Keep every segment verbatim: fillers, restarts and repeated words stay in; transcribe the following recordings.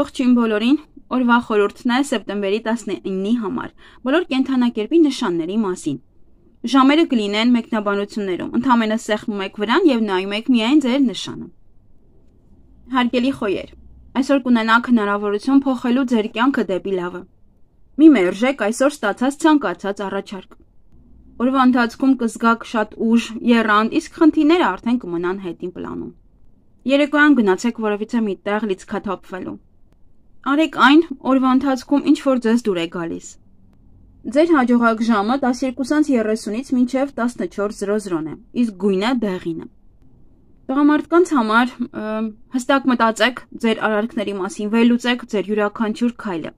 Ողջույն բոլորին, օրվա խորհուրդն է սեպտեմբերի տասնինի համար, բոլոր կենդանակերպի նշանների մասին։ Ժամերը կլինեն մեկնաբանություններում, ընդամենը սեղմում եք վրան և նայում եք միայն ձեր նշանը։ Հարգելի խոյեր, այսօր կունենաք հնարավորություն փոխելու ձեր կյանքը դեպի լավը։ Մի մերժեք այսօր ստացած ցանկացած առաջարկ։ Օրվա ընթացքում կզգաք շատ ուժ, եռանդ, իսկ խնդիրները արդեն կմնան հետին պլանում։ Երեկոյան գնացեք որևիցե մի տեղ լիցքաթափվելու։ Արեք այն, օրվա ընթացքում ինչ որ ձեզ դուր է գալիս։ Ձեր հաջողակ ժամը տասներկուսից երեսունից մինչև տասնչորս է, իսկ գույնը դեղինը։ Տղամարդկանց համար հստակ մտածեք ձեր արարքների մասին, վերլուծեք ձեր յուրաքանչյուր քայլը։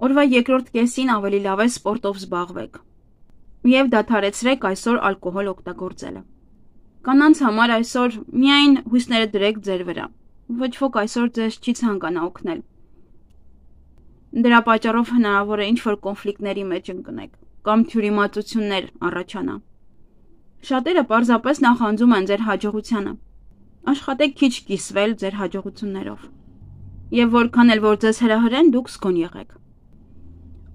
Օրվա երկրորդ կեսին ավելի լավ է սպորտով զբաղվեք և դադարեցրեք այսօր ալկոհոլ օգտագործելը։ Կանանց համար այսօր միայն հույսները դրեք ձեր վրա, ոչ ոք այսօր ձեզ չի ցանկանա օգնել։ Դրա պատճառով հնարավոր է ինչ-որ կոնֆլիկտների մեջ ընկնեք կամ թյուրիմացություններ առաջանա։ Շատերը պարզապես նախանձում են ձեր հաջողությանը։ Աշխատեք քիչ կիսվել ձեր հաջողություններով։ Եվ որքան էլ որ ձեզ հրահրեն, դուք զգոն եղեք։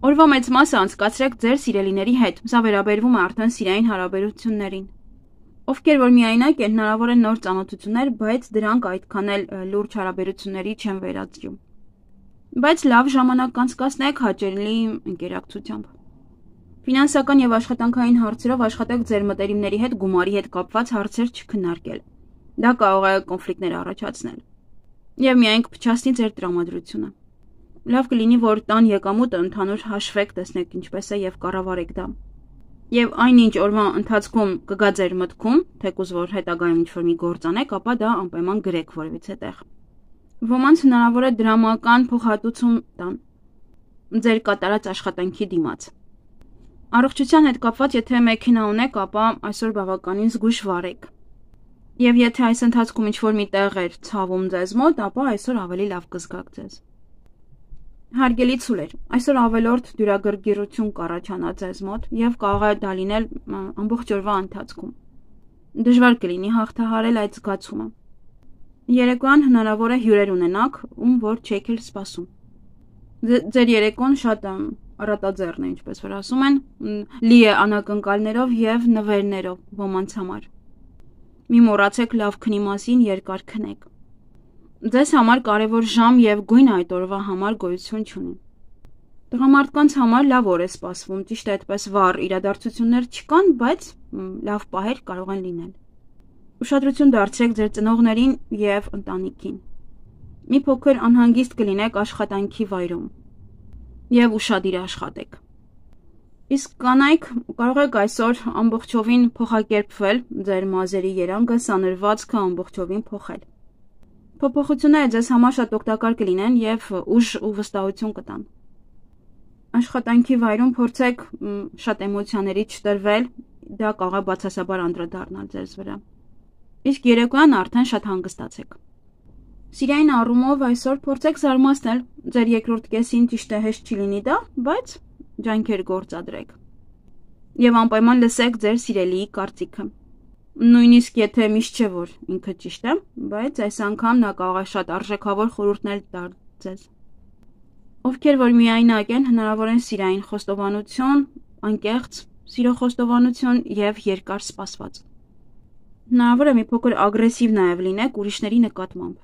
Օրվա մեծ մասը անցկացրեք ձեր սիրելիների հետ, սա վերաբերվում է արդեն սիրային հարաբերություններին։ Ովքեր որ միայնակ են, հնարավոր են նոր ծանոթություններ, բայց դրանք այդքան էլ լուրջ հարաբերությունների չեն վերածվում։ Բայց լավ ժամանակ անցկացնեք հաճելի ընկերակցությամբ։ Ֆինանսական և աշխատանքային հարցերով աշխատեք ձեր մտերիմների հետ գումարի հետ կապված հարցեր չքննարկել։ Դա կարող է կոնֆլիկտներ առաջացնել և միայն կփչացնի ձեր տրամադրությունը։ Լավ կլինի, որ տան եկամուտը ընդհանուր հաշվեք, տեսնեք ինչպես է և կառավարեք դա։ Եվ այնինչ օրվա ընթացքում կգա ձեր մտքում, թեկուզ որ հետագայում ինչ-որ մի գործ անեք, ապա դա անպայման գրեք որևիցե տեղ։ Ոմանց հնարավոր է դրամական փոխհատուցում տան ձեր կատարած աշխատանքի դիմաց։ Առողջության հետ կապված, եթե մեքենա ունեք, ապա այսօր բավականին զգույշ վարեք։ Եվ եթե այս ընթացքում ինչ-որ մի տեղ էր ցավում ձեզ մոտ, ապա այսօր ավելի լավ կզգաք ձեզ։ Հարգելի ցուլեր, այսօր ավելորդ դյուրագրգիռություն կառաջանա ձեզ մոտ և կարող է դա լինել ամբողջ օրվա ընթացքում։ Դժվար կլինի հաղթահարել այդ զգացումը։ Երեկոյան հնարավոր է հյուրեր ունենաք, ում որ չեք էլ սպասում։ Ձեր երեկոն շատ առատաձեռն է, ինչպես որ ասում են, լի է անակնկալներով և նվերներով ոմանց համար։ Մի մոռացեք լավ քնի մասին, երկար քնեք։ Ձեզ համար կարևոր ժամ և գույն այդ օրվա համար գոյություն չունի։ Տղամարդկանց համար լավ օր է սպասվում, ճիշտ է այդպես վառ իրադարձություններ չկան, բայց լավ պահեր կարող են լինել։ Ուշադրություն դարձրեք ձեր ծնողներին և ընտանիքին։ Մի փոքր անհանգիստ կլինեք աշխատանքի վայրում և ուշադիր աշխատեք։ Իսկ կանայք կարող եք այսօր ամբողջովին փոխակերպվել, ձեր մազերի երանգը, սանրվածքը ամբողջովին փոխել։ Փոփոխությունները ձեզ համար շատ օգտակար կլինեն և ուժ ու վստահություն կտան։ Աշխատանքի վայրում փորձեք շատ էմոցիաների չտրվել, դա կարող է բացասաբար անդրադառնալ ձեզ վրա։ Իսկ երեկոյան արդեն շատ հանգստացեք։ Սիրային առումով այսօր փորձեք զարմացնել, ձեր երկրորդ կեսին ճիշտ է հեշտ չի լինի դա, բայց ջանքեր գործադրեք։ Եվ անպայման լսեք ձեր սիրելիի կարծիքը։ Նույնիսկ եթե միշտ չէ որ ինքը ճիշտ է, բայց այս անգամ նա կարող է շատ արժեքավոր խորհուրդներ տալ ձեզ։ Ովքեր որ միայնակ են, հնարավոր են սիրային խոստովանություն, անկեղծ սիրո խոստովանություն և երկար սպասված։ Հնարավոր է մի փոքր ագրեսիվ նաև լինեք ուրիշների նկատմամբ։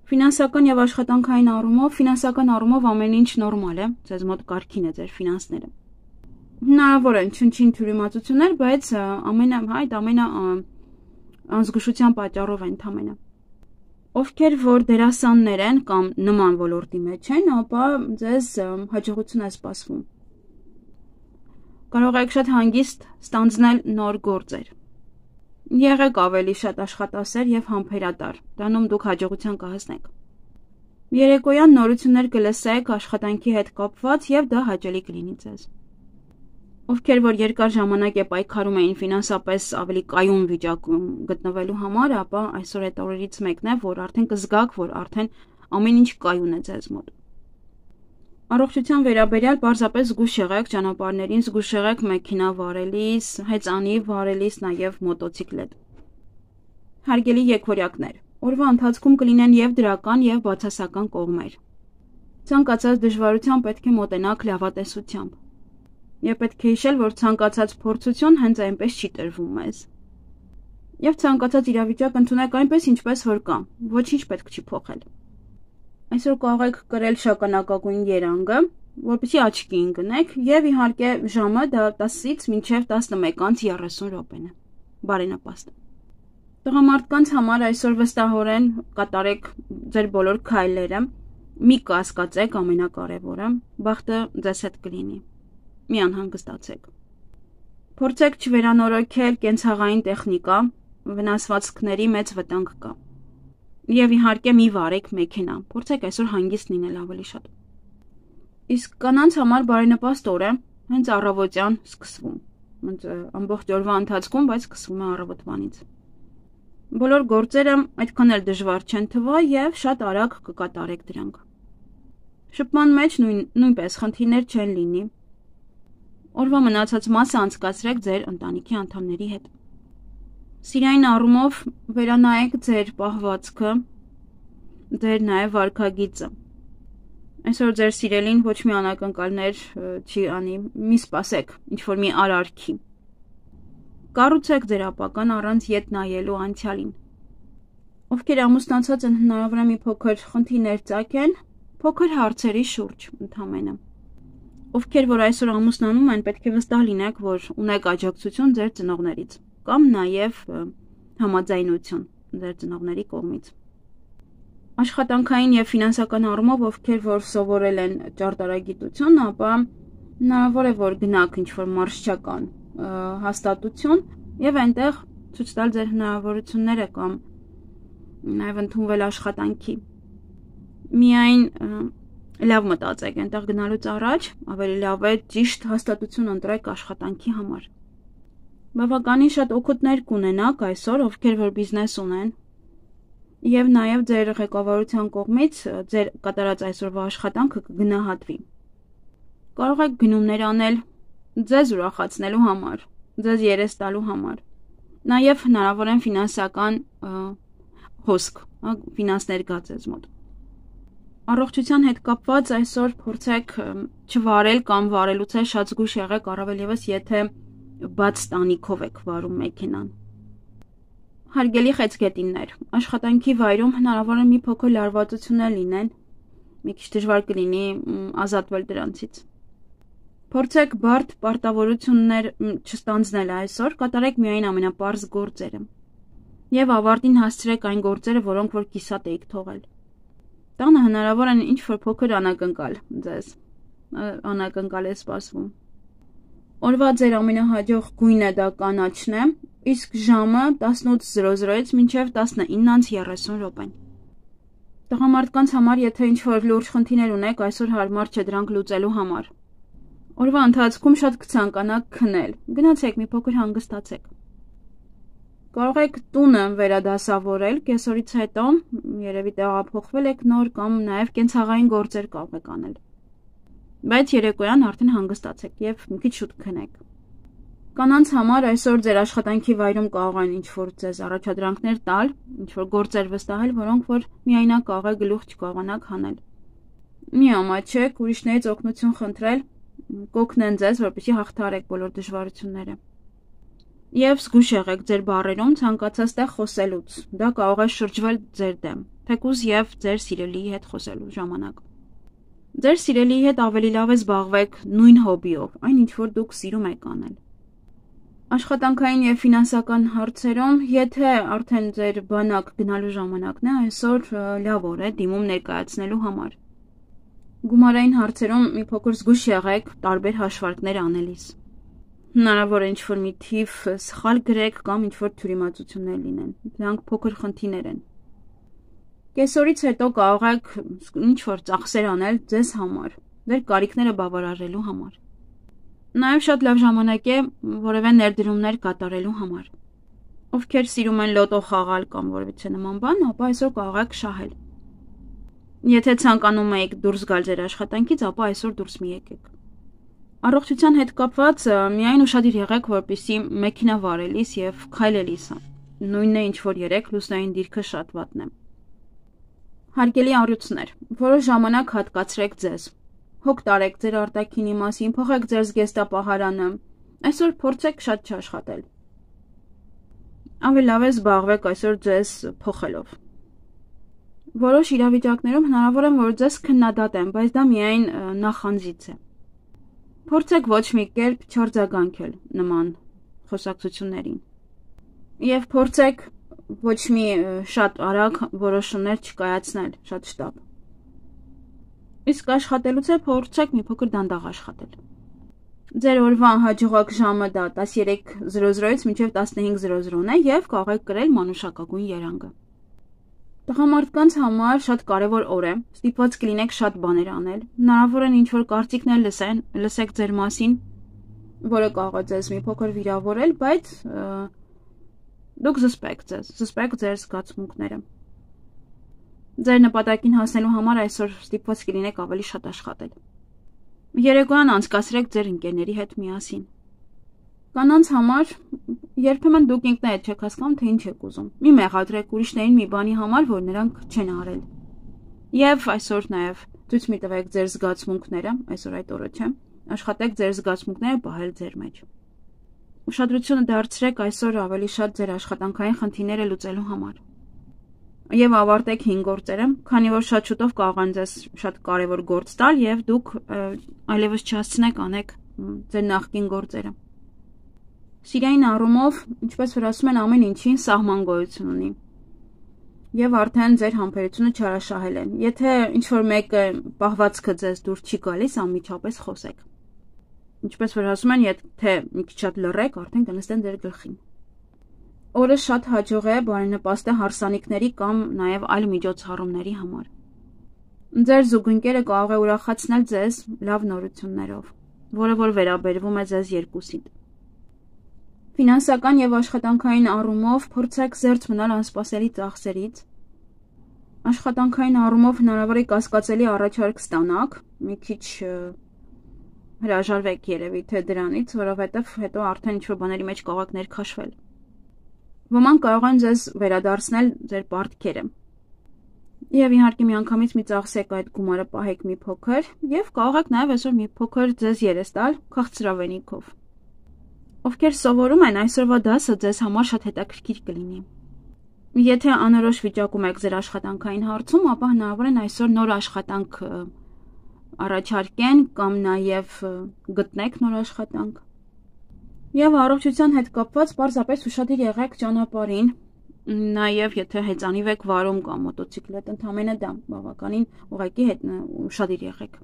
Ֆինանսական և աշխատանքային առումով, ֆինանսական առումով ամեն ինչ նորմալ է, ձեզ մոտ կարգին է ձեր ֆինանսները։ Հնարավոր են չնչին թյուրիմացություններ, բայց ամենը այդ ամենը անզգուշության պատճառով է ընդամենը։ Ովքեր որ դերասաններ են կամ նման ոլորտի մեջ են, ապա ձեզ հաջողություն է սպասվում։ Կարող եք շատ հանգիստ ստանձնել նոր գործեր։ Եղեք ավելի շատ աշխատասեր և համբերատար, դրանում դուք հաջողության կհասնեք։ Երեկոյան նորություններ կլսեք աշխատանքի հետ կապված և դա հաճելի կլինի ձեզ։ Ովքեր որ երկար ժամանակ է պայքարում էին ֆինանսապես ավելի կայուն վիճակում գտնվելու համար, ապա այսօր այդ օրերից մեկն է, որ արդեն կզգաք, որ արդեն ամեն ինչ կայուն է ձեզ մոտ։ Առողջության վերաբերյալ պարզապես զգույշ եղեք ճանապարհներին, զգույշ եղեք մեքենա վարելիս, հեծանիվ վարելիս, նաև մոտոցիկլետ։ Հարգելի եկվորյակներ, Օրվա ընթացքում կլինեն եւ դրական եւ բացասական կողմեր։ Ցանկացած դժվարության պետք է մոտենաք լավատեսությամբ։ Եվ պետք է հիշել, որ ցանկացած փորձություն հենց այնպես չի տրվում մեզ։ Եվ ցանկացած իրավիճակ ընդունեք այնպես, ինչպես որ կա, ոչինչ պետք չի փոխել։ Այսօր կարող եք կրել շագանակագույն երանգը, որպեսզի աչքի ընկնեք, եւ իհարկե ժամը դա տասից մինչև տասնմեկ անց երեսուն րոպեն է։ Բարենպաստ։ Տղամարդկանց համար այսօր վստահորեն կատարեք ձեր բոլոր քայլերը, մի կասկածեք ամենակարևորը, բախտը ձեզ հետ կլինի։ Մի անհանգստացեք։ Փորձեք չվերանորոգել կենցաղային տեխնիկա, վնասվածքների մեծ վտանգ կա։ Եվ իհարկե մի վարեք մեքենա, փորձեք այսօր հանգիստ լինել ավելի շատ։ Իսկ կանանց համար բարենպաստ օր է հենց առավոտյան սկսվում, հենց ամբողջ օրվա ընթացքում, բայց սկսվում է առավոտվանից։ Բոլոր գործերը այդքան էլ դժվար չեն թվա եւ շատ արագ կկատարեք դրանք։ Շփման մեջ նույն, նույնպես խնդիրներ չեն լինի։ Օրվա մնացած մասը անցկացրեք ձեր ընտանիքի անդամների հետ։ Սիրային առումով վերանայեք ձեր պահվածքը, ձեր նաև վարքագիծը։ Այսօր ձեր սիրելին ոչ մի անակնկալներ չի անի, մի սպասեք, ինչ-որ մի արարքի։ Կառուցեք ձեր ապագան առանց ետ նայելու անցյալին։ Ովքեր ամուսնացած են, հնարավոր է մի փոքր խնդիրներ ծագեն, փոքր հարցերի շուրջ ընդամենը։ Ովքեր որ այսօր ամուսնանում են, պետք է վստահ լինեք, որ ունեք աջակցություն ձեր ծնողներից կամ նաև համաձայնություն ձեր ծնողների կողմից։ Աշխատանքային եւ ֆինանսական առումով ովքեր որ սովորել են ճարտարագիտություն, ապա հնարավոր է որ գնաք ինչ-որ մարշչական հաստատություն եւ այնտեղ ցույց տալ ձեր հնարավորությունները կամ նաեւ ընդունվել աշխատանքի։ Միայն լավ մտածեք, այնտեղ գնալուց առաջ ավելի լավ է ճիշտ հաստատություն ընտրեք աշխատանքի համար։ Բավականին շատ օգուտներ կունենաք այսօր, ովքեր որ բիզնես ունեն, եւ նաեւ ձեր ղեկավարության կողմից ձեր կատարած այսօրվա աշխատանքը կգնահատվի։ Կարող եք գնումներ անել ձեզ ուրախացնելու համար, ձեզ երես տալու համար։ Նաեւ հնարավոր են ֆինանսական հոսք, ֆինանսներ գա ձեզ մոտ։ Առողջության հետ կապված այսօր փորձեք չվարել կամ վարելուց է շատ զգույշ եղեք, առավել եւս եթե բաց տանիքով եք վարում մեքենան։ Հարգելի խեցգետիններ, աշխատանքի վայրում հնարավոր է մի փոքր լարվածություններ լինեն, մի քիչ դժվար կլինի ազատվել դրանցից։ Փորձեք բարդ պարտավորություններ չստանձնել այսօր, կատարեք միայն ամենապարզ գործերը եւ ավարտին հասցրեք այն գործերը, որոնք որ կիսատ էիք թողել։ Տանը հնարավոր են ինչ-որ փոքր անակնկալ ձեզ, անակնկալ է սպասվում։ Օրվա ձեր ամենահաջող գույնը դա կանաչն է, իսկ ժամը տասնութ զրո զրոից մինչև տասնինը երեսուն րոպեն։ Տղամարդկանց համար եթե ինչ-որ լուրջ խնդիրներ ունեք, այսօր հարմար չէ դրանք լուծելու համար։ Օրվա ընթացքում շատ կցանկանաք քնել, գնացեք մի փոքր հանգստացեք։ Կարող եք տունը վերադասավորել, կեսօրից հետո երևի տեղափոխվել եք նոր կամ նաև կենցաղային գործեր կարող եք անել։ Բայց երեկոյան արդեն հանգստացեք եւ մի քիչ շուտ քնեք։ Կանանց համար այսօր ձեր աշխատանքի վայրում կարող են ինչ-որ ձեզ առաջադրանքներ տալ, ինչ-որ գործեր վստահել, որոնք որ միայնակ կարող է գլուխ չկարողանաք հանել։ Մի ամաչեք, ուրիշներից օգնություն խնդրել, կօգնեն ձեզ, որպեսզի հաղթահարեք բոլոր դժվարությունները։ Եվ զգույշ եղեք ձեր բառերում ցանկացած տեղ խոսելուց։ Դա կարող է շրջվել ձեր դեմ, թեկուզ եւ ձեր սիրելիի հետ խոսելու ժամանակ։ Ձեր սիրելիի հետ ավելի լավ է զբաղվեք նույն հոբիով, այն ինչ որ դուք սիրում եք անել։ Աշխատանքային եւ ֆինանսական հարցերում, եթե արդեն ձեր բանակ գնալու ժամանակն է, այսօր լավ օր է դիմում ներկայացնելու համար։ Գումարային հարցերում մի փոքր զգույշ եղեք տարբեր հաշվարկներ անելիս։ Հնարավոր է ինչ-որ մի թիվ սխալ գրեք կամ ինչ-որ թյուրիմացություններ լինեն։ Դրանք փոքր խնդիրներ են։ Կեսօրից հետո կարող եք ինչ-որ ծախսեր անել ձեզ համար, ձեր կարիքները բավարարելու համար։ Նաև շատ լավ ժամանակ է որևէ ներդրումներ կատարելու համար։ Ովքեր սիրում են լոտո խաղալ կամ որևէ նման բան, ապա այսօր կարող եք շահել։ Եթե ցանկանում եք դուրս գալ ձեր աշխատանքից, ապա այսօր դուրս մի եկեք։ Առողջության հետ կապված միայն ուշադիր եղեք, որպեսզի մեքենա վարելիս եւ քայլելիս նույնն է ինչ որ երեք, լուսնային դիրքը շատ վատն է։ Հարգելի առյուծներ, որոշ ժամանակ հատկացրեք ձեզ։ Հոգ տարեք ձեր արտաքինի մասին, փոխեք ձեր զգեստապահարանը։ Այսօր փորձեք շատ չաշխատել։ Ավելի լավ է զբաղվեք այսօր ձեզ փոխելով։ Որոշ իրավիճակներում հնարավոր է, որ ձեզ քննադատեն, բայց դա միայն նախանձից է։ Փորձեք ոչ մի կերպ չարձագանքել նման խոսակցություններին։ Եվ փորձեք ոչ մի շատ արագ որոշումներ չկայացնել, շատ շտապ։ Իսկ աշխատելուց է փորձեք մի փոքր դանդաղ աշխատել։ Ձեր օրվա հաջողակ ժամը դա տասներեք զրո զրոից մինչև տասնհինգ զրո զրոն է եւ կարող եք կրել մանուշակագույն երանգը։ Տղամարդկանց համար շատ կարևոր օր է, ստիպված կլինեք շատ բաներ անել։ Հնարավոր է ինչ-որ կարծիքներ լսեն, լսեք ձեր մասին, որը կարող է ձեզ մի փոքր վիրավորել, բայց դուք զսպեք ձեզ, զսպեք ձեր զգացմունքները։ Ձեր նպատակին հասնելու համար այսօր ստիպված կլինեք ավելի շատ աշխատել։ Երեկոյան անցկացրեք ձեր ընկերների հետ միասին։ Կանանց համար երբեմն դուք ինքներդ չեք հասկանում, թե ինչ եք ուզում։ Մի մեղադրեք ուրիշներին մի բանի համար, որ նրանք չեն արել։ Եվ այսօր նաև ցույց մի տվեք ձեր զգացմունքները, այսօր այդ օրը չէ, աշխատեք ձեր զգացմունքները պահել ձեր մեջ։ Ուշադրությունը դարձրեք այսօր ավելի շատ ձեր աշխատանքային խնդիրները լուծելու համար։ Եվ ավարտեք հինգ գործերը, քանի որ շատ շուտով կարող են ձեզ շատ կարևոր գործ տալ եւ դուք այլևս չհասցնեք անեք ձեր նախկին գործերը։ Սիրային առումով, ինչպես որ ասում են, ամեն ինչին սահման գոյություն ունի։ Եվ արդեն ձեր համբերությունը չարաշահել են։ Եթե ինչ-որ մեկը պահվածքը ձեզ դուր չի գալիս, անմիջապես խոսեք։ Ինչպես որ ասում են, եթե մի քիչ շատ լռեք, արդեն կնստեն ձեր գլխին։ Օրը շատ հաջող է բարենպաստ է հարսանիքների կամ նաև այլ միջոցառումների համար։ Ձեր զուգընկերը կարող է ուրախացնել ձեզ լավ նորություններով, որը որ վերաբերվում է ձեզ երկուսին։ Ֆինանսական եւ աշխատանքային առումով փորձեք զերծ մնալ անսպասելի ծախսերից։ Աշխատանքային առումով հնարավոր է կասկածելի առաջարկ ստանաք, մի քիչ հրաժարվեք երևի թե դրանից, որովհետև հետո արդեն ինչ-որ բաների մեջ կարող եք ներքաշվել։ Ոմանք կարող են ձեզ վերադարձնել ձեր պարտքերը։ Եվ իհարկե միանգամից մի ծախսեք այդ գումարը պահեք մի փոքր եւ կարող եք նաեւ այսօր մի փոքր ձեզ երես տալ քաղցրավենիքով։ Ովքեր սովորում են, այսօրվա դասը ձեզ համար շատ հետաքրքիր կլինի։ Եթե անորոշ վիճակում եք ձեր աշխատանքային հարցում, ապա հնարավոր է այսօր նոր աշխատանք առաջարկեն կամ նաեւ գտնեք նոր աշխատանք։ Եվ առողջության հետ կապված պարզապես ուշադիր եղեք ճանապարհին, նաև եթե հեծանիվ եք վարում կամ մոտոցիկլետ, ընդամենը դա բավականին ուղղակի հետ ուշադիր եղեք։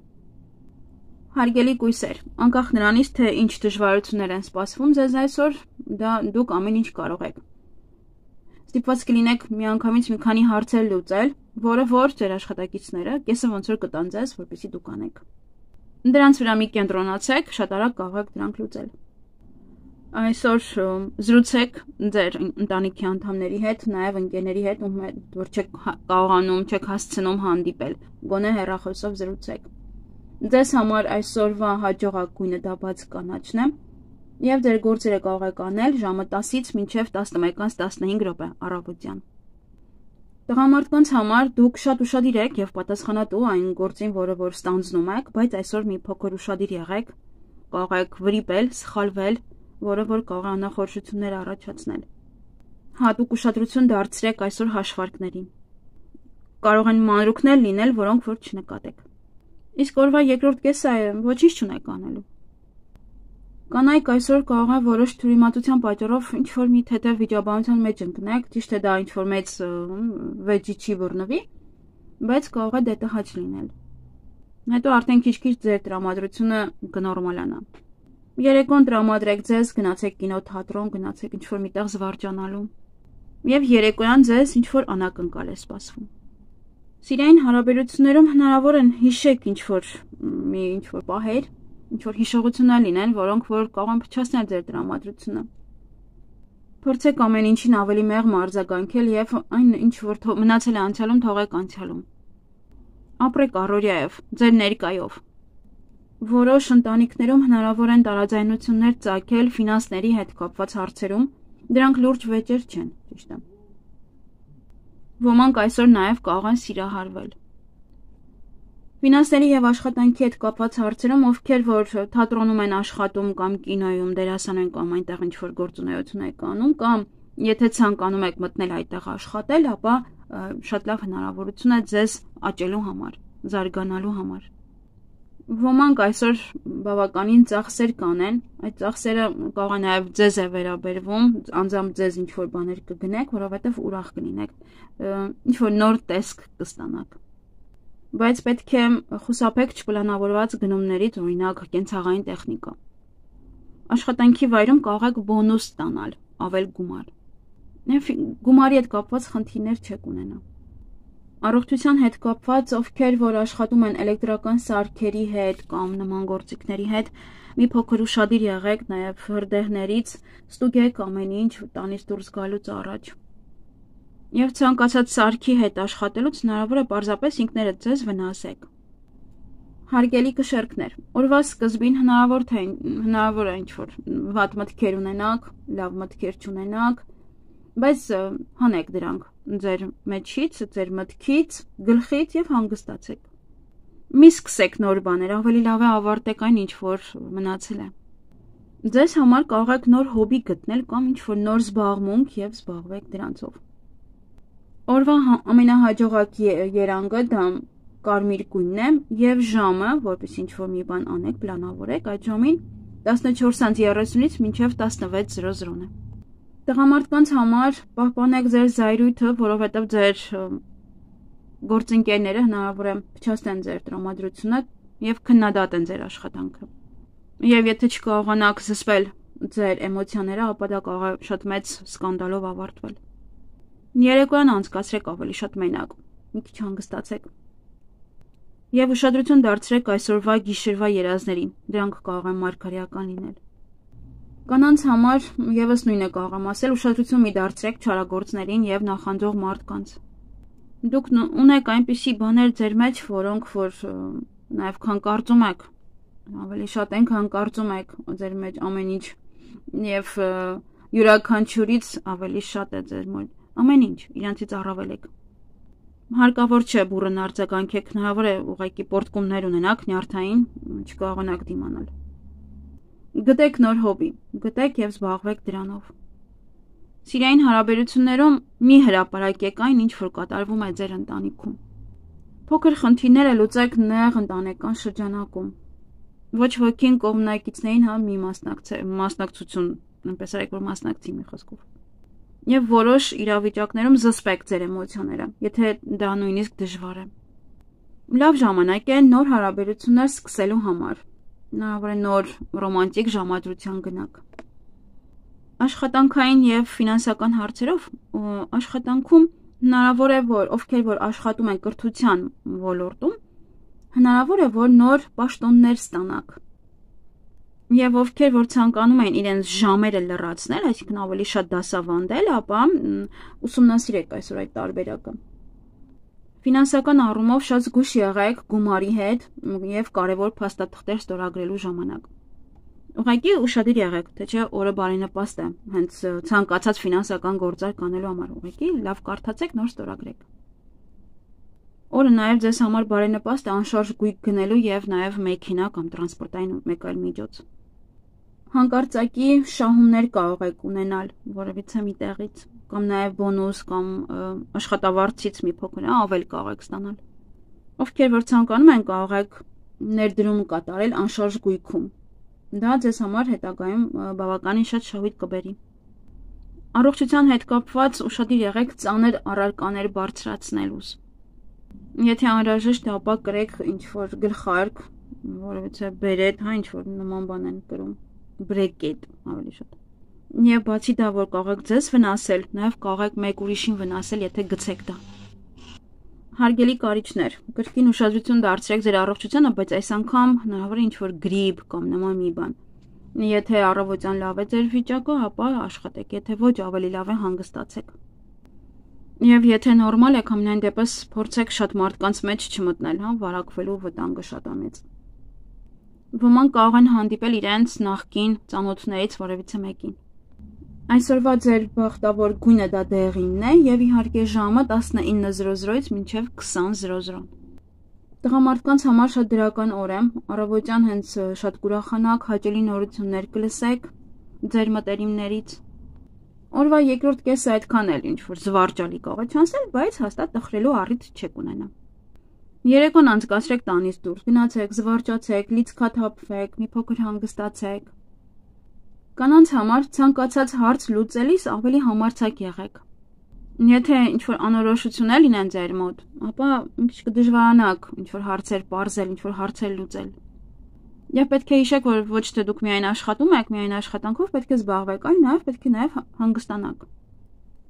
Հարգելի կույսեր, անկախ նրանից, թե ինչ դժվարություններ են սպասվում ձեզ այսօր, դա դուք ամեն ինչ կարող եք։ Ստիպված կլինեք միանգամից մի քանի հարցեր լուծել, որը որ ձեր աշխատակիցները կեսը ոնց որ կտան ձեզ, որպեսզի դուք անեք։ Դրանց վրա մի կենտրոնացեք, շատ արագ կարող եք դրանք լուծել։ Այսօր զրուցեք ձեր ընտանիքի անդամների հետ, նաև ընկերների հետ, ում հետ որ չեք կարողանում, չեք հասցնում հանդիպել, գոնե հեռախոսով զրուցեք։ Ձեզ համար այսօրվա հաջողակույնը դա բաց կանաչն է, եւ ձեր գործերը կարող եք անել ժամը տասից մինչև տասնմեկից տասնհինգ րոպե առավոտյան։ Տղամարդկանց համար դուք շատ ուշադիր եք եւ պատասխանատու այն գործին, որը որ ստանձնում եք, բայց այսօր մի փոքր ուշադիր եղեք, կարող եք վրիպել, սխալվել, որը որ կարող է անախորժություններ առաջացնել։ Հատուկ ուշադրություն դարձրեք այսօր հաշվարկներին։ Կարող են մանրուքներ լինել, որոնք որ չնկատեք։ Իսկ օրվա երկրորդ կեսը ոչինչ չունեք անելու։ Կանայք այսօր կարող է որոշ թյուրիմացության պատճառով ինչ-որ մի թեթև վիճաբանության մեջ ընկնեք, ճիշտ է դա ինչ-որ մեծ վեճի չի բռնվի, բայց կարող է դետահաճ լինել։ Հետո արդեն քիչ-քիչ ձեր տրամադրությունը կնորմալանա։ Երեկոն տրամադրեք ձեզ, գնացեք կինո, թատրոն, գնացեք ինչ-որ միտեղ զվարճանալու։ Եվ երեկոյան ձեզ ինչ-որ անակնկալ է սպասվում։ Սիրային հարաբերություններում հնարավոր են հիշեք ինչ-որ մի ինչ-որ պահեր, ինչ-որ հիշողություններ լինեն, որոնք որ կարող են փչացնել ձեր տրամադրությունը։ Փորձեք ամեն ինչին ավելի մեղմ արձագանքել եւ այն ինչ որ մնացել է անցյալում, թողեք անցյալում։ Ապրեք առօրյայով, ձեր ներկայով։ Որոշ ընտանիքներում հնարավոր են տարաձայնություններ ծագել ֆինանսների հետ կապված հարցերում, դրանք լուրջ վեճեր չեն, ճիշտ է։ Ոմանք այսօր նաև կարող են սիրահարվել։ Ֆինանսների եւ աշխատանքի հետ կապված հարցերում, ովքեր որ թատրոնում են աշխատում կամ կինոյում դերասան են կամ այնտեղ ինչ-որ գործունեություն եք անում, կամ եթե ցանկանում եք մտնել այդտեղ աշխատել, ապա շատ լավ հնարավորություն է ձեզ աճելու համար, զարգանալու համար։ Ոմանք այսօր բավականին ծախսեր կանեն, այդ ծախսերը կարող է նաև ձեզ է վերաբերվում, անձամբ ձեզ ինչ-որ բաներ կգնեք, որովհետև ուրախ կլինեք, ինչ-որ նոր տեսք կստանաք։ Բայց պետք է խուսափեք չպլանավորված գնումներից, օրինակ կենցաղային տեխնիկա։ Աշխատանքի վայրում կարող եք բոնուս ստանալ, ավել գումար։ Գումարի հետ կապված խնդիրներ չեք ունենա։ Առողջության հետ կապված, ովքեր որ աշխատում են էլեկտրական սարքերի հետ կամ նման գործիքների հետ, մի փոքր ուշադիր եղեք նաև հրդեհներից, ստուգեք ամեն ինչ տանից դուրս գալուց առաջ։ Եվ ցանկացած սարքի հետ աշխատելուց հնարավոր է պարզապես ինքներդ ձեզ վնասեք։ Հարգելի կշեռքներ, օրվա սկզբին հնարավոր թե հնարավոր է ինչ-որ վատ մտքեր ունենաք, լավ մտքեր չունենաք, բայց հանեք դրանք ձեր մեջից, ձեր մտքից, գլխից եւ հանգստացեք։ Մի սկսեք նոր բաներ, ավելի լավ է ավարտեք այն ինչ որ մնացել է։ Ձեզ համար կարող եք նոր հոբի գտնել կամ ինչ-որ նոր զբաղմունք եւ զբաղվեք դրանցով։ Օրվա ամենահաջողակ երանգը դա կարմիր գույնն է եւ ժամը, որպես ինչ-որ մի բան անեք, պլանավորեք, այդ ժամին տասնչորսից երեսունից մինչև տասնվեց է։ Տղամարդկանց համար պահպանեք ձեր զայրույթը, որովհետև ձեր գործընկերները հնարավոր է փչացնեն ձեր տրամադրությունը եւ քննադատեն ձեր աշխատանքը։ Եվ եթե չկարողանաք զսպել ձեր էմոցիաները, ապա դա կարող է շատ մեծ սկանդալով ավարտվել։ Երեկոյան անցկացրեք ավելի շատ մենակ, մի քիչ հանգստացեք։ Եվ ուշադրություն դարձրեք այսօրվա գիշերվա երազներին, դրանք կարող են մարգարեական լինել։ Կանանց համար եւս նույնը կարող եմ ասել, ուշադրություն մի դարձրեք չարագործներին եւ նախանձող մարդկանց։ Դուք ունեք այնպիսի բաներ ձեր մեջ, որոնք որ նաեւ քան կարծում եք, ավելի շատ են, քան կարծում եք ձեր մեջ ամեն ինչ եւ յուրաքանչյուրից ավելի շատ է ձեր մոտ ամեն ինչ, իրանցից առավել եք։ Հարկավոր չէ բուրըն արձագանքեք, հնարավոր է ուղղակի պորտկումներ ունենաք նյարդային, չկարողանաք դիմանալ։ Գտեք նոր հոբի, գտեք եւ զբաղվեք դրանով։ Սիրային հարաբերություններում մի հրապարակեք այն, ինչ որ կատարվում է ձեր ընտանիքում։ Փոքր խնդիրները լուծեք նեղ ընտանեկան շրջանակում։ Ոչ ոքին կողմնակիցներին հա մի մասնակցություն, այնպես արեք որ մասնակցի մի խոսքով։ Եվ որոշ իրավիճակներում զսպեք ձեր էմոցիաները, եթե դա նույնիսկ դժվար է։ Լավ ժամանակ է նոր հարաբերություններ սկսելու համար։ Հնարավոր է նոր ռոմանտիկ ժամադրության գնաք։ Աշխատանքային եւ ֆինանսական հարցերով աշխատանքում հնարավոր է որ ովքեր որ աշխատում են կրթության ոլորտում, հնարավոր է որ նոր պաշտոններ ստանաք։ Եվ ովքեր որ ցանկանում են իրենց ժամերը լրացնել, այսինքն ավելի շատ դասավանդել, ապա ուսումնասիրեք այսօր այդ տարբերակը։ Ֆինանսական առումով շատ զգույշ եղեք գումարի հետ եւ կարեւոր փաստաթղթեր ստորագրելու ժամանակ։ Ուղղակի ուշադիր եղեք, թե չէ օրը բարենպաստ է, հենց ցանկացած ֆինանսական գործարք կանելու համար ուղղակի լավ կարդացեք, նոր ստորագրեք։ Օրը նաեւ ձեզ համար բարենպաստ է անշարժ գույք գնելու եւ նաեւ մեքենա կամ տրանսպորտային մեկ այլ միջոց։ Հանկարծակի շահումներ կարող եք ունենալ որևիցե մի տեղից, կամ նաև բոնուս կամ աշխատավարձից մի փոքր ավել կարող եք ստանալ։ Ովքեր որ ցանկանում են կարող եք ներդրում կատարել անշարժ գույքում։ Դա ձեզ համար հետագայում բավականին շատ շահույթ կբերի։ Առողջության հետ կապված ուշադիր եղեք ծանր առարկաներ բարձրացնելուց։ Եթե անհրաժեշտ է, ապա կրեք ինչ-որ գլխարկ, որովհետեւ բերետ, հա ինչ-որ նման բան են կրում, բրեկետ ավելի շատ։ Եվ բացի դա, որ կարող եք ձեզ վնասել, նաև կարող եք մեկ ուրիշին վնասել, եթե գցեք դա։ Հարգելի կարիճներ, կրկին ուշադրություն դարձրեք ձեր առողջությանը, բայց այս անգամ հնարավոր է ինչ-որ գրիպ կամ նման մի բան։ Եթե առավոտյան լավ է ձեր վիճակը, ապա աշխատեք, եթե ոչ, ավելի լավ է հանգստացեք։ Եվ եթե նորմալ եք, ամենայն դեպս փորձեք շատ մարդկանց մեջ չմտնել, հա, վարակվելու վտանգը շատ է մեծ։ Ոմանք կարող են հանդիպել իրենց նախկին ծանոթներից որևիցե մեկին։ Այսօրվա ձեր բախտավոր գույնը դա դեղինն է եւ իհարկե ժամը տասնինը զրո զրոից մինչեւ քսան զրո զրո։ Տղամարդկանց համար շատ դրական օր է, առավոտյան հենց շատ կուրախանաք, հաճելի նորություններ կլսեք ձեր մտերիմներից։ Օրվա երկրորդ կեսը այդքան էլ ինչ որ զվարճալի կարող է չանցնել, բայց հաստատ տխրելու առիթ չեք ունենա։ Երեկոն անցկացրեք տանից դուրս, գնացեք, զվարճացեք, լիցքաթափվեք, մի փոքր հանգստացեք։ Կանանց համար ցանկացած հարց լուծելիս ավելի համարձակ եղեք։ Եթե ինչ-որ անորոշություններ լինեն ձեր մոտ, ապա մի քիչ կդժվարանաք ինչ-որ հարցեր պարզել, ինչ-որ հարցեր լուծել։ Եվ պետք է հիշեք, որ ոչ թե դուք միայն աշխատում եք, միայն աշխատանքով պետք է զբաղվեք, այլ նաև պետք է նաև հանգստանաք։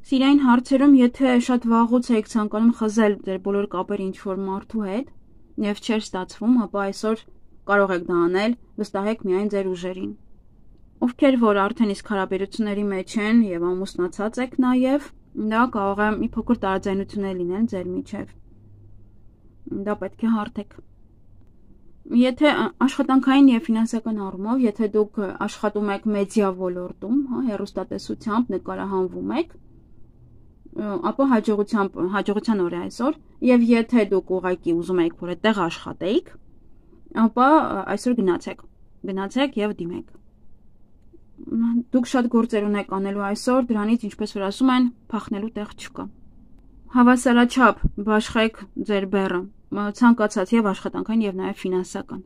Սիրային հարցերում, եթե շատ վաղուց եք ցանկանում խզել ձեր բոլոր կապերը ինչ-որ մարդու հետ, եւ չէր ստացվում, ապա այսօր կարող եք դա անել, վստահեք միայն ձեր ուժերին։ Ովքեր որ արդեն իսկ հարաբերությունների մեջ են եւ ամուսնացած եք նաեւ, դա կարող է մի փոքր տարաձայնություններ լինեն ձեր միջեւ։ Դա պետք է հարթեք։ Եթե աշխատանքային եւ ֆինանսական առումով, եթե դուք աշխատում եք մեդիա ոլորտում, հա, հեռուստատեսությամբ նկարահանվում եք, ապա հաջողությամբ հաջողության օր է այսօր, եւ եթե դուք ուղղակի ուզում եք որ այդտեղ աշխատեիք, ապա այսօր գնացեք, գնացեք եւ դիմեք։ Դուք շատ գործեր ունեք անելու այսօր, դրանից ինչպես որ ասում են, փախնելու տեղ չկա։ Հավասարաչափ բաշխեք ձեր բեռը, ցանկացած եւ աշխատանքային եւ նաեւ ֆինանսական։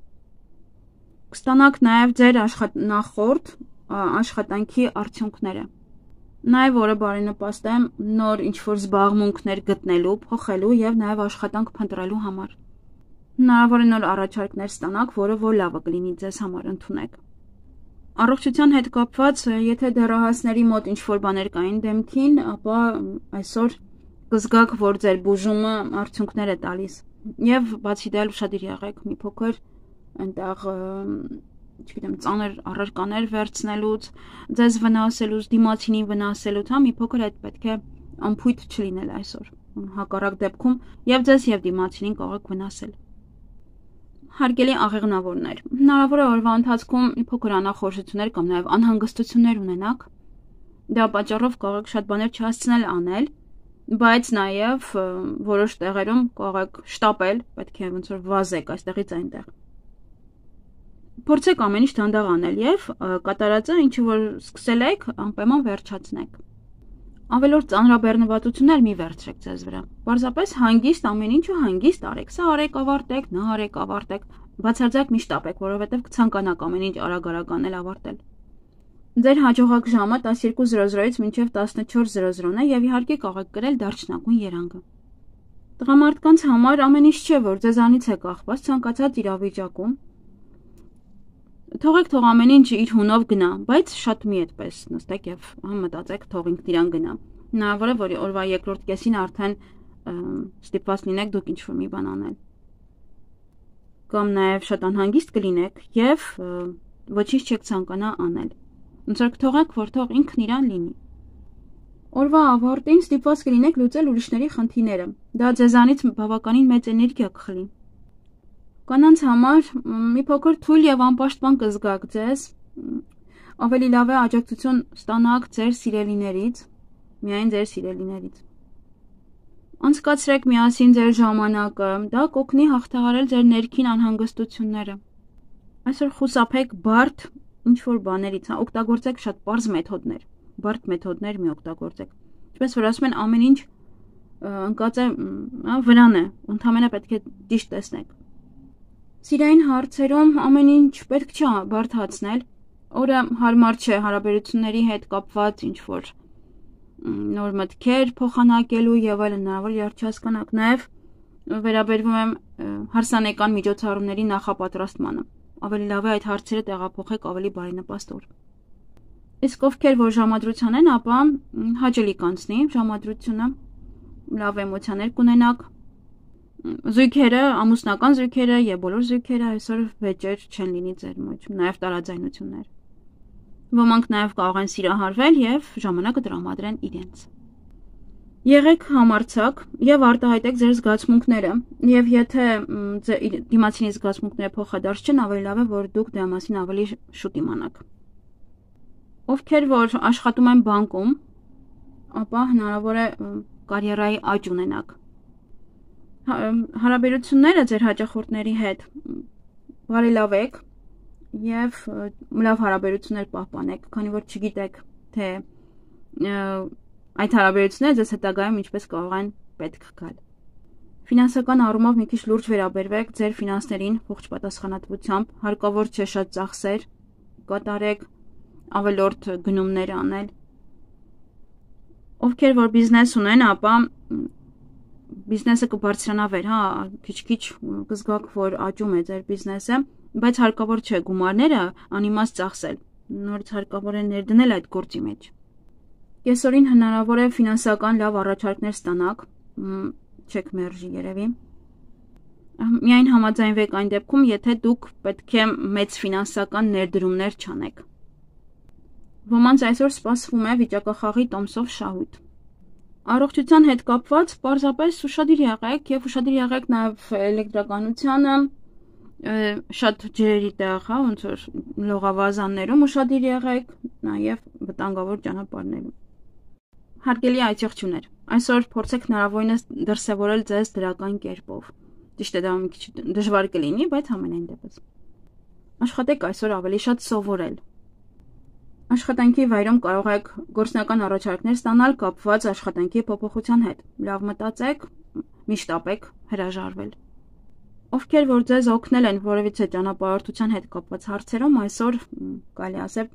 Կստանաք նաեւ ձեր նախորդ աշխատանքի արդյունքները։ Նաեւ որը բարենպաստ է նոր ինչ-որ զբաղմունքներ գտնելու, փոխելու եւ նաեւ աշխատանք փնտրելու համար։ Հնարավոր է նոր առաջարկներ ստանաք, որը որ լավը կլինի ձեզ համար ընդունեք։ Առողջության հետ կապված, եթե դեռահասների մոտ ինչ-որ բաներ կային դեմքին, ապա այսօր կզգաք, որ ձեր բուժումը արդյունքներ է տալիս։ Եվ բացի դա ուշադիր եղեք մի փոքր այնտեղ, չգիտեմ, ծանր առարկաներ վերցնելուց, ձեզ վնասելուց, դիմացինին վնասելուց, հա, մի փոքր այդ պետք է անփույթ չլինել այսօր։ Հակառակ դեպքում եւ ձեզ եւ դիմացինին կարող եք վնասել։ Հարգելի աղեղնավորներ, հնարավոր է օրվա ընթացքում մի փոքր անախորժություններ կամ նաև անհանգստություններ ունենաք։ Դա պատճառով կարող եք շատ բաներ չհասցնել անել, բայց նաև որոշ տեղերում կարող եք շտապել, պետք է ոնց որ վազեք այստեղից այնտեղ։ Փորձեք ամեն ինչ դանդաղ անել եւ կատարածը, ինչը որ սկսել եք, անպայման վերջացնեք։ Ավելորդ ծանրաբեռնվածություններ մի վերցրեք ձեզ վրա։ Պարզապես հանգիստ ամեն ինչը հանգիստ արեք։ Սա արեք, ավարտեք, նա արեք, ավարտեք։ Բացարձակ մի շտապեք, որովհետև կցանկանաք ամեն ինչ արագ-արագ անել ավարտել։ Ձեր հաջողակ ժամը տասնյոթ զրո զրոից մինչև տասնչորս զրո զրոն է եւ իհարկե կարող եք գրել դարչնագույն երանգը։ Տղամարդկանց համար ամեն ինչ չէ, որ ձեզանից է կախված ցանկացած իրավիճակում։ Թողեք թող ամեն ինչ իր հունով գնա, բայց շատ մի այդպես նստեք եւ մտածեք, թող ինքն իրան գնա։ Հնարավոր է, որ օրվա երկրորդ կեսին արդեն ստիպված լինեք դուք ինչ-որ մի բան անել։ Կամ նաեւ շատ անհանգիստ կլինեք եւ ոչինչ չեք ցանկանա անել։ Ոնց որ թողեք, որ թող ինքն իրան լինի։ Օրվա ավարտին ստիպված կլինեք լուծել ուրիշների խնդիրները։ Դա ձեզանից բավականին մեծ էներգիա կխլի։ Կանանց համար մի փոքր թույլ եւ անպաշտպան կզգաք ձեզ, ավելի լավ է աջակցություն ստանաք ձեր սիրելիներից, միայն ձեր սիրելիներից։ Անցկացրեք միասին ձեր ժամանակը, դա կօգնի հաղթահարել ձեր ներքին անհանգստությունները։ Այսօր խուսափեք բարդ ինչ-որ բաներից, օգտագործեք շատ պարզ մեթոդներ, բարդ մեթոդներ մի օգտագործեք։ Ինչպես որ ասում են, ամեն ինչ ընկած է վրան է, ընդհանրապես պետք է ճիշտ տեսնեք։ Սիրային հարցերում ամեն ինչ պետք չէ բարդացնել, օրը հարմար չէ հարաբերությունների հետ կապված ինչ-որ նոր մտքեր փոխանակելու եւ այլն, հնարավոր է չհասկանաք, նաեւ վերաբերվում եմ հարսանեկան միջոցառումների նախապատրաստմանը։ Ավելի լավ է այդ հարցերը տեղափոխեք ավելի բարենպաստ օր։ Իսկ ովքեր որ ժամադրության են, ապա հաճելի կանցնի ժամադրությունը, լավ էմոցիաներ կունենաք։ Զույգերը, ամուսնական զույգերը եւ բոլոր զույգերը այսօր վեճեր չեն լինի ձեր մեջ, նաեւ տարաձայնություններ։ Ոմանք նաեւ կարող են սիրահարվել եւ ժամանակը տրամադրեն իրենց։ Եղեք համարձակ եւ արտահայտեք ձեր զգացմունքները, եւ եթե դիմացինի զգացմունքները փոխադարձ չեն, ավելի լավ է որ դուք դրա մասին ավելի շուտ իմանաք։ Ովքեր որ աշխատում են բանկում, ապա հնարավոր է կարիերայի աճ ունենաք։ Հարաբերությունները ձեր հաճախորդների հետ բարելավեք եւ լավ հարաբերություններ պահպանեք, քանի որ չգիտեք, թե այդ հարաբերությունները ձեզ հետագայում ինչպես կարող են պետք գալ։ Ֆինանսական առումով մի քիչ լուրջ վերաբերվեք ձեր ֆինանսներին ողջ պատասխանատվությամբ, հարկավոր չէ շատ ծախսեր կատարեք, ավելորդ գնումներ անել։ Ովքեր որ բիզնես ունեն, ապա բիզնեսը կբարձրանա վեր, հա, քիչ-քիչ կզգաք, որ աճում է ձեր բիզնեսը, բայց հարկավոր չէ գումարները անիմաստ ծախսել։ Նորից հարկավոր է ներդնել այդ գործի մեջ։ Կեսօրին հնարավոր է ֆինանսական լավ առաջարկներ ստանաք, չեք մերժի երևի։ Միայն համաձայնվեք այն դեպքում, եթե դուք պետք է մեծ ֆինանսական ներդրումներ չանեք։ Ոմանց այսօր սպասվում է վիճակախաղի տոմսով շահույթ։ Առողջության հետ կապված պարզապես ուշադիր եղեք եւ ուշադիր եղեք նաեւ էլեկտրականությանը, շատ ջրերի տեղ, հա, ոնց որ լողավազաններում ուշադիր եղեք, նաեւ վտանգավոր ճանապարհներում։ Հարգելի այցեղջուներ, այսօր փորձեք հնարավորինս դրսևորել ձեզ դրական կերպով։ Ճիշտ է, դա մի քիչ դժվար կլինի, բայց համենայն դեպս։ Աշխատեք այսօր ավելի շատ սովորել։ Աշխատանքի վայրում կարող եք գործնական առաջարկներ ստանալ կապված աշխատանքի փոփոխության հետ։ Լավ մտածեք, միշտ ապեք հրաժարվել։ Ովքեր որ ձեզ օգնել են որևիցե ճանապարհորդության հետ կապված հարցերում, այսօր կարելի ասել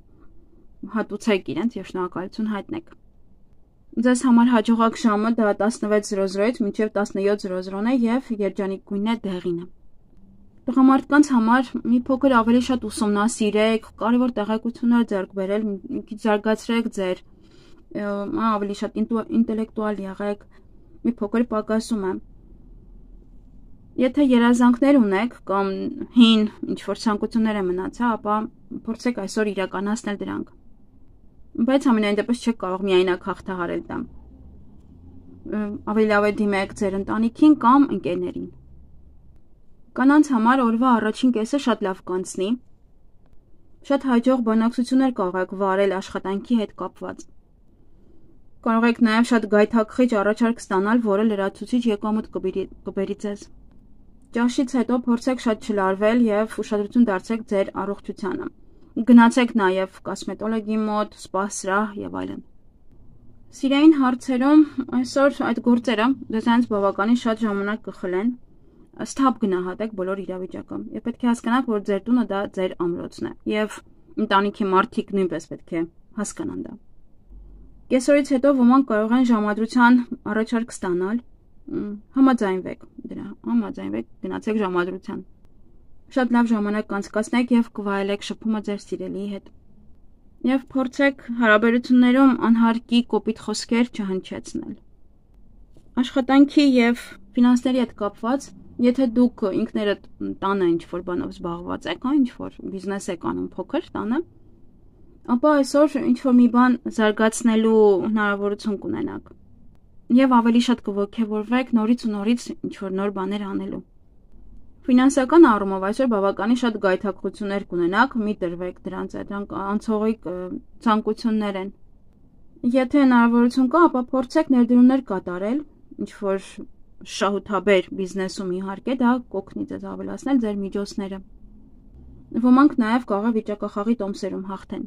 հատուցեք իրենց եւ շնորհակալություն հայտնեք։ Ձեզ համար հաջողակ ժամը դա տասնվեց զրո զրոից մինչև տասնյոթ զրո զրոն է եւ երջանիկ գույնն է դեղինը։ Տղամարդկանց համար մի փոքր ավելի շատ ուսումնասիրեք, կարևոր տեղեկություններ ձեռք բերել, մի քիչ զարգացրեք ձեր, ավելի շատ ինտելեկտուալ եղեք, մի փոքր պակասում է։ Եթե երազանքներ ունեք կամ հին ինչ-որ ցանկություններ է մնացել, ապա փորձեք այսօր իրականացնել դրանք։ Բայց ամենայն դեպս չեք կարող միայնակ հաղթահարել դա։ Ավելի լավ է դիմեք ձեր ընտանիքին կամ ընկերներին։ Կանանց համար օրվա առաջին կեսը շատ լավ կանցնի։ Շատ հաջող բանակցություններ կարող եք վարել աշխատանքի հետ կապված։ Կարող եք նաև շատ գայթակղիչ առաջարկ ստանալ, որը լրացուցիչ եկամուտ կբերի ձեզ։ Ճաշից հետո փորձեք շատ չլարվել եւ ուշադրություն դարձրեք ձեր առողջությանը։ Գնացեք նաև կոսմետոլոգի մոտ, սպա սրահ եւ այլն։ Սիրային հարցերում այսօր այդ գործերը դեզանց բավականին շատ ժամանակ կխլեն։ Ստապ գնահատեք բոլոր իրավիճակը եւ պետք է հասկանաք, որ ձեր տունը դա ձեր ամրոցն է եւ ընտանիքի մարդիկ նույնպես պետք է հասկանան դա։ Կեսօրից հետո ոմանք կարող են ժամադրության առաջարկ ստանալ, համաձայնվեք դրա, համաձայնվեք, գնացեք ժամադրության։ Շատ լավ ժամանակ կանցկացնեք եւ կվայելեք շփումը ձեր սիրելիի հետ։ Եվ փորձեք հարաբերություններում անհարկի կոպիտ խոսքեր չհնչեցնել։ Աշխատանքի եւ ֆինանսների հետ կապված, եթե դուք ինքներդ տանը ինչ-որ բանով զբաղված եք, այն ինչ-որ բիզնես եք անում փոքր տանը, ապա այսօր ինչ-որ մի բան զարգացնելու հնարավորություն կունենաք։ Եվ ավելի շատ կողքեվորվեք նորից ու նորից ինչ-որ նոր բաներ անելու։ Ֆինանսական առումով այսօր բավականին շատ գայթակղություններ կունենաք, մի տրվեք դրանց, դրանք անցողիկ ցանկություններ են։ Եթե հնարավորություն կա, ապա փորձեք ներդրումներ կատարել, ինչ որ շահութաբեր բիզնեսում իհարկե դա կօգնի ձեզ ավելացնել ձեր միջոցները։ Ոմանք նաև կարող է վիճակախաղի տոմսերում հաղթեն։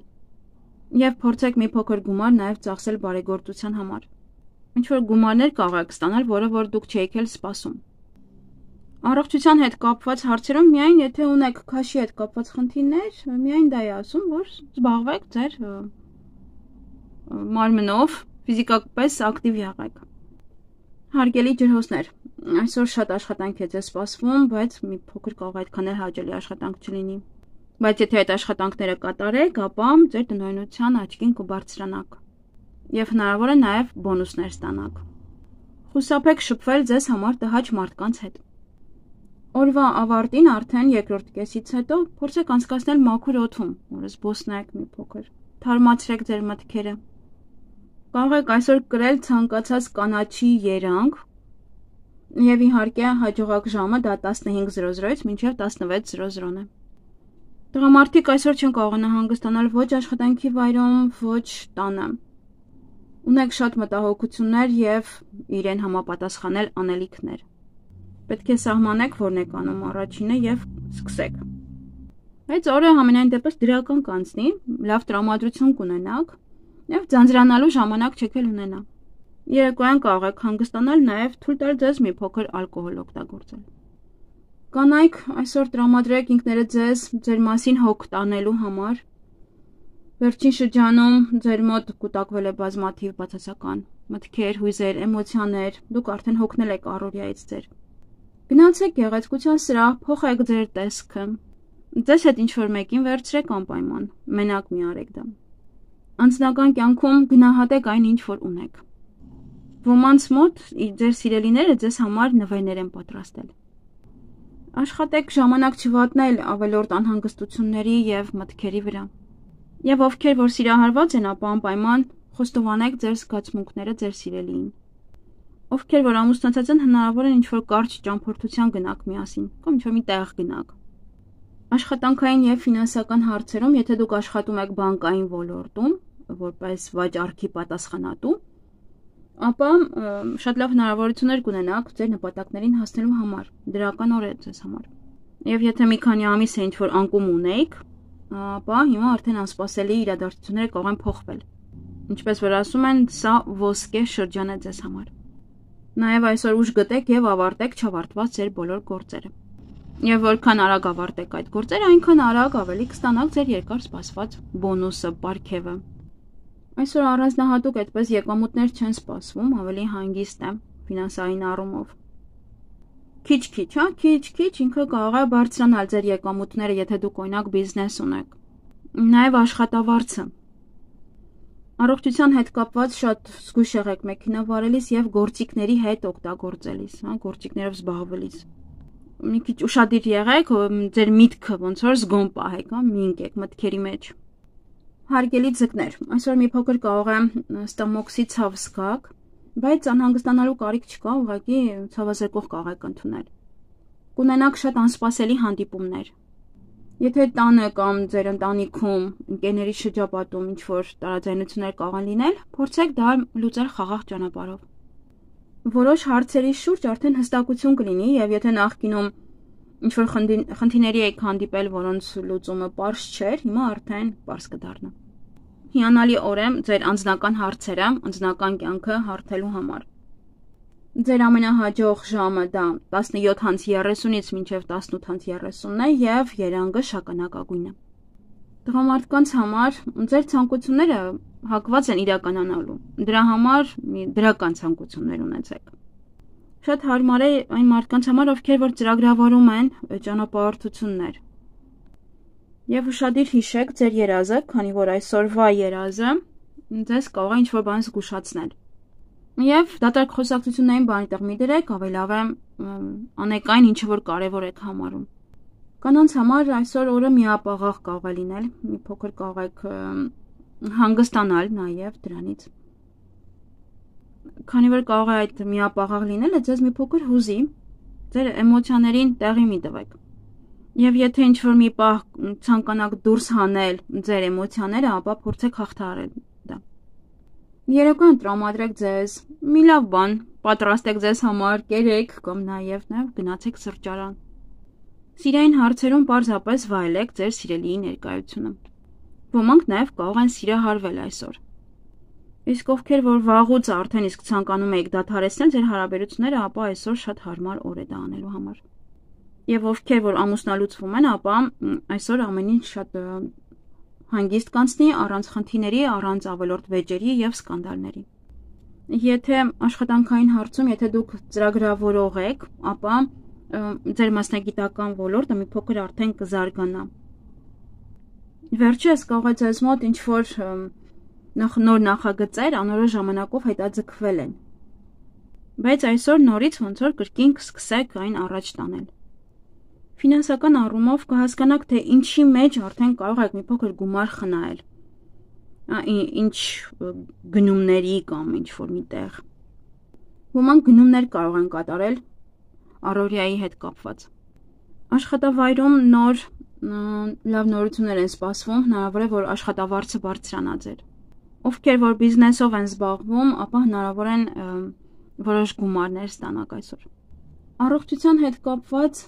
Եվ փորձեք մի փոքր գումար նաև ծախսել բարեգործության համար։ Ինչ որ գումարներ կարող եք ստանալ, որը որ դուք չէիք էլ սպասում։ Առողջության հետ կապված հարցերում միայն եթե ունեք քաշի հետ կապված խնդիրներ, միայն դա է ասում, որ զբաղվեք ձեր մարմնով, ֆիզիկապես ակտիվ եղեք։ Հարգելի ջրհոսներ, այսօր շատ աշխատանք է ձեզ սպասվում, բայց մի փոքր կարող այդքան էլ հաճելի աշխատանք չլինի։ Բայց եթե այդ աշխատանքները կատարեք, ապա ձեր տնօրինության աճքին կբարձրանաք եւ հնարավոր է նաեւ բոնուսներ ստանաք։ Խուսափեք շփվել ձեզ համար տհաճ մարդկանց հետ։ Օրվա ավարտին արդեն երկրորդ կեսից հետո փորձեք անցկացնել մաքուր օդում, որը զբոսնեք մի փոքր։ Թարմացրեք ձեր մտքերը։ Կարող եք այսօր կրել ցանկացած կանաչի երանգ եւ իհարկե հաջողակ ժամը դա տասնհինգ զրո զրոից մինչև տասնվեց զրո զրոն է։ Տղամարդիկ այսօր չեն կարողանա հանգստանալ ոչ աշխատանքի վայրում, ոչ տանը։ Ունեք շատ մտահոգություններ եւ իրեն համապատասխանել անելիքներ։ Պետք է սահմանեք, որն եք անում առաջինը եւ սկսեք։ Այդ օրը համենայն դեպս դրական կանցնի, լավ տրամադրություն կունենաք եւ ձանձրանալու ժամանակ չեք էլ ունենա։ Երեկոյան կարող եք հանգստանալ նաեւ թույլ տալ ձեզ մի փոքր ալկոհոլ օգտագործել։ Կանայք այսօր տրամադրեք ինքներդ ձեզ ձեր մասին հոգ տանելու համար։ Վերջին շրջանում ձեր մոտ կուտակվել է բազմաթիվ բացասական մտքեր, հույզեր, էմոցիաներ, դուք արդեն հոգնել եք առօրյայից ձեր։ Գնացեք գեղեցկության սրահ, փոխեք ձեր տեսքը։ Ձեզ հետ ինչ-որ մեկին վերցրեք անպայման, մենակ մի արեք դա։ Անձնական կյանքում գնահատեք այն, ինչ որ ունեք։ Ոմանց մոտ ձեր սիրելիները ձեզ համար նվերներ են պատրաստել։ Աշխատեք ժամանակ չվատնել ավելորդ անհանգստությունների եւ մտքերի վրա։ Եվ ովքեր որ սիրահարված են, ապա անպայման խոստովանեք ձեր զգացմունքները ձեր սիրելիին։ Ովքեր որ ամուսնացած են, հնարավոր է ինչ-որ կարճ ճամփորդության գնաք միասին, կամ ինչ-որ մի տեղ գնաք։ Աշխատանքային եւ ֆինանսական հարցերում, եթե դուք աշխատում եք բանկային ոլորտում, որպես վաճառքի պատասխանատու, ապա շատ լավ հնարավորություններ կունենաք ձեր նպատակներին հասնելու համար։ Դրական օր է ձեզ համար։ Եվ եթե մի քանի ամիս է ինչ-որ անկում ունեիք, ապա հիմա արդեն անսպասելի իրադարձությունները կարող են փոխվել։ Ինչպես որ ասում են, սա ոսկե շրջան է ձեզ համար։ Նաև այսօր ուժ գտեք եւ ավարտեք չավարտված ձեր բոլոր գործերը։ Եվ որքան արագ ավարտեք այդ գործերը, այնքան արագ ավելի կստանաք ձեր երկար սպասված բոնուսը, պարգևը։ Այսօր առանձնահատուկ այդպես եկամուտներ չեն սպասվում, ավելի հանգիստ է ֆինանսային առումով։ Քիչ-քիչ, հա, քիչ-քիչ ինքը կարող է բարձրանալ ձեր եկամուտները, եթե դուք օրինակ բիզնես ունեք։ Նաև աշխատավարձը։ Առողջության հետ կապված շատ զգույշ եղեք մեքենա վարելիս եւ գործիքների հետ օգտագործելիս, հա, գործիքներով զբաղվելիս։ Մի քիչ ուշադիր եղեք, ձեր միտքը ոնց որ զգոն պահեք, հա, մի ընկեք մտքերի մեջ։ Հարգելի ձկներ, այսօր մի փոքր կարող է ստամոքսի ցավ զգաք, բայց անհանգստանալու կարիք չկա, ուղղակի ցավազրկող կարող եք ընդունել։ Կունենաք շատ անսպասելի հանդիպումներ։ Եթե տանը կամ ձեր ընտանիքում, ընկերների շրջապատում ինչ-որ տարաձայնություններ կարող են լինել, փորձեք դա լուծել խաղաղ ճանապարհով։ Որոշ հարցերի շուրջ արդեն հստակություն կլինի, եւ եթե նախկինում ինչ-որ խնդիրների եք հանդիպել, որոնց լուծումը պարզ չէր, հիմա արդեն պարզ կդառնա։ Հիանալի օր է ձեր անձնական հարցերը, անձնական կյանքը հարթելու համար։ Ձեր ամենահաջող ժամը դա տասնյոթից երեսունից մինչև տասնութից երեսունն է եւ երանգը շագանակագույնը։ Տղամարդկանց համար ձեր ցանկությունները հակված են իրականանալու։ Դրա համար դրական ցանկություններ ունեցեք։ Շատ հարմար է այն մարդկանց համար, ովքեր որ ծրագրավորում են ճանապարհորդություններ։ Եվ ուշադիր հիշեք ձեր երազը, քանի որ այսօրվա երազը ձեզ կարող է ինչ-որ բան զգուշացնել։ Եվ դատարկ խոսակցություններին բանի տեղ մի դրեք, ավելավ է անեք այն, ինչը որ կարևոր եք համարում։ Կանանց համար այսօր օրը միապաղաղ կարող է լինել, մի փոքր կարող եք հանգստանալ նաև դրանից։ Քանի որ կարող է այդ միապաղաղ լինելը ձեզ մի փոքր հուզի, ձեր էմոցիաներին տեղի մի տվեք։ Եվ եթե ինչ-որ մի պահ ցանկանաք դուրս հանել ձեր էմոցիաները, ապա փորձեք հաղթահարել դա։ Երեկոյան տրամադրեք ձեզ մի լավ բան, պատրաստեք ձեզ համար, կերեք կամ նաև նաև գնացեք սրճարան։ Սիրային հարցերում պարզապես վայելեք ձեր սիրելիի ներկայությունը։ Ոմանք նաև կարող են սիրահարվել այսօր։ Իսկ ովքեր որ վաղուց արդեն իսկ ցանկանում եք դադարեցնել ձեր հարաբերությունները, ապա այսօր շատ հարմար օր է դա անելու համար։ Եվ ովքեր որ ամուսնալուծվում են, ապա այսօր ամեն ինչ շատ հանգիստ կանցնի, առանց խնդիրների, առանց ավելորդ վեճերի եւ սկանդալների։ Եթե աշխատանքային հարցում, եթե դուք ծրագրավորող եք, ապա ձեր մասնագիտական ոլորտը մի փոքր արդեն կզարգանա։ Վերջերս կարող է ձեզ մոտ ինչ-որ նոր նախագծեր անորոշ ժամանակով հետաձգվել են։ Բայց այսօր նորից ոնց որ կրկին կսկսեք այն առաջ տանել։ Ֆինանսական առումով կհասկանաք, թե ինչի մեջ արդեն կարող եք մի փոքր գումար խնայել։ Ինչ գնումների կամ ինչ-որ միտեղ։ Ոմանք գնումներ կարող են կատարել առօրյայի հետ կապված։ Աշխատավայրում նոր լավ նորություններ են սպասվում, հնարավոր է, որ աշխատավարձը բարձրանա ձեր։ Ովքեր որ բիզնեսով են զբաղվում, ապա հնարավոր են որոշ գումարներ ստանաք այսօր։ Առողջության հետ կապված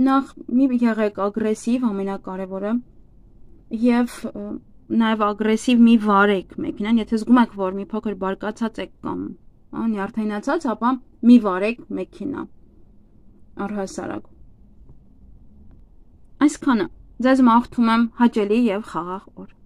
նախ մի եղեք ագրեսիվ, ամենակարևորը, եւ նաեւ ագրեսիվ մի վարեք մեքենան, եթե զգում եք, որ մի փոքր բարկացած եք կամ նյարդայնացած, ապա մի վարեք մեքենա առհասարակ։ Այսքանը, ձեզ մաղթում եմ հաճելի եւ խաղաղ օր։